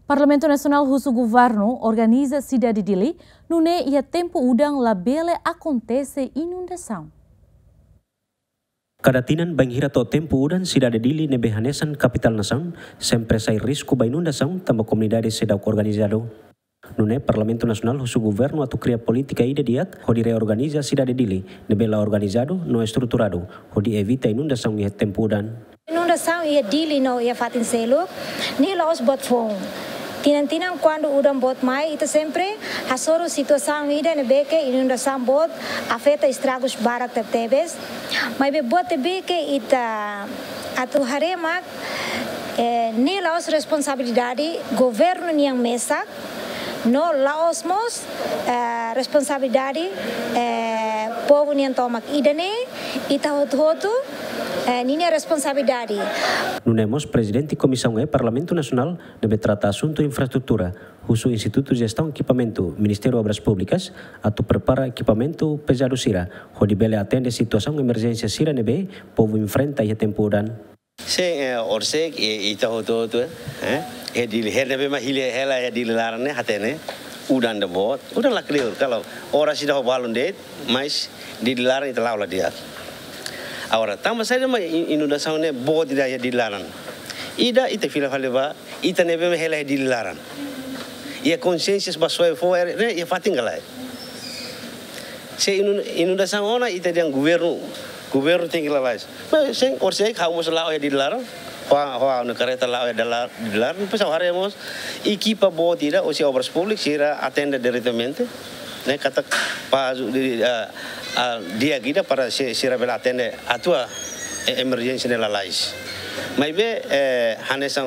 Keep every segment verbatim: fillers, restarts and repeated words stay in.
Parlamentu Nasionál husu governu organiza sidade Dili, nune'e iha tempu udan labele akontese inundasaun. Kada tinan bainhira to'o tempu udan, sidade Dili ne'ebé hanesan kapitál nasaun sempre sai risku ba inundasaun tanba komunidade seidauk organizadu. Nune'e Parlamentu Nasionál husu governu atu kria polítika ida di'ak hodi reorganiza sidade Dili ne'ebé la organizadu no estruturadu, hodi evita inundasaun iha tempu udan. Inundasaun iha Dili no iha fatin seluk ne'e la'ós boot foun. Tinan-tinan kuandu udan boot mai, ita sempre hasoru situasaun ida ne'ebé ke inundasaun boot, afeta estragus barak tebetebes. Maibé buat ne'ebé ke ita atu haree mak, eh, ne'e la'ós responsabilidade governu nian mesak, no la'ós mós, eh, responsabilidade, eh, povu nian tomak. Ida-ne'e ita hotu-hotu, eh, ninia responsabilidade. Nune'e mós Prezidente Komisaun E Parlamentu Nasionál ne'ebé trata asuntu infraestrutura husu Institutu Jestaun Ekipamentu, Ministériu Obras Públikas, atu prepara ekipamentu pezadu sira hodi bele atende situasaun emerjénsia sira ne'ebé povu enfrenta iha tempu udan. Sin, eh, orsek, eh, ita hotu-hotu, eh, eh, iha Dili, iha ne'ebé mak hili hela iha Dili laran ne'e hatene, udan ida boot, udan la kleur, kalau oras ida ho balun de'it, mas Dili laran ita la'o la di'ak. Agora, tanba saida mak in-, inundasaun ne'e boot ida iha Dili laran? Ida, ita fila fali ba ita ne'ebé mak hela iha Dili laran. Iha konsiénsia ba soe fó air ne'e iha fatin ka lae. Se inun-, inundasaun ona ita dehan governu, governu tenke lalais. Mas sin, orsida ha'u mós la'o iha Dili laran, ho, ho ha'u-nia karreta la'o iha Dili laran, depois ha'u haree mós ekipa boot ida, husi Obras Públikas, sira atende diretamente, ne'e katak pazu di, ah, ah, di'ak ida para si-, sira bele atende, atua, eh, emerjénsia ne'e lalais. Maibé, eh, hanesan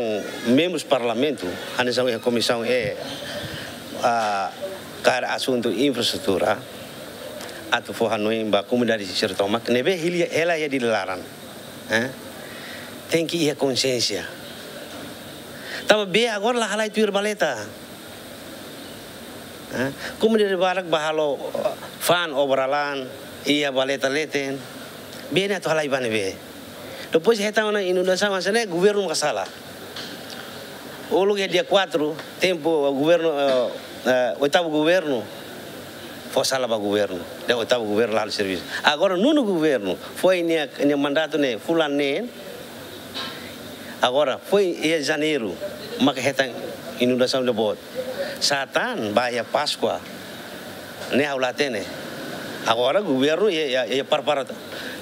membrus Parlamentu, hanesan iha Komisaun E, ah, kaer asuntu infraestrutura, atu fó hanoin ba komunidade sira tomak ne'ebé hili hela iha Dili laran, eh, tenke iha konsiénsia. Tanba bee agora la halai tuir valeta. Eh, komunidade barak bá halo, eh, fa'an obra laran, iha valeta leten, bee ne'e atu halai ba ne'ebé? Depois hetan ona inundasaun hanesan ne'e, governu maka sala. Uluk iha dia quatro, tempu governu, eh, eh, oitavu governu, fó sala ba governu, dehan oitavu governu la halo servisu. Agora nonu governu, foin nia, nia mandatu ne'e fulan neen, agora foin iha Janeiru maka hetan inundasaun ida boot. Sá tan ba iha Páskua ne'e ha'u la hatene. Agora governu iha, iha, iha prepara,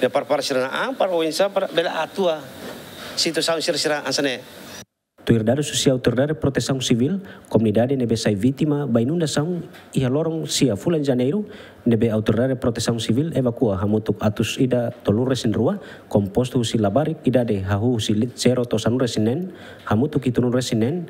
iha prepara sira-nia an para oinsá para bele atua situasaun sira-sira hanesan ne'e. Tuir dadus husi Autoridade Protesaun Sivíl, komunidade ne'ebé sai vítima ba inundasaun iha loron sia fulan Janeiru, ne'ebé Autoridade Protesaun Sivíl evakua hamutuk atus ida tolunulu-resin-rua, kompostu husi labarik idade hahú husi li-, zero to'o sanulu-resin-neen, hamutuk hitunulu-resin-neen,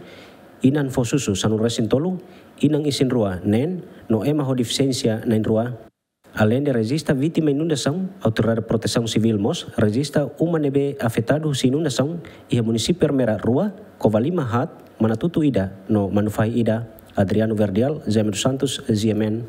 inan fó susu sanulu-resin-tolu, inan isin-rua neen, no ema ho defisiénsia na'in-rua. Aleinde rejista vítima inundasaun, Autoridade Protesaun Sivíl mós rejista uma ne'ebé afetadu husi inundasaun iha munisípiu Ermera rua, Covalima haat, Manatuto ida, no Manufahi ida. Adriano Verdial, Jaime dos Santos, G M N.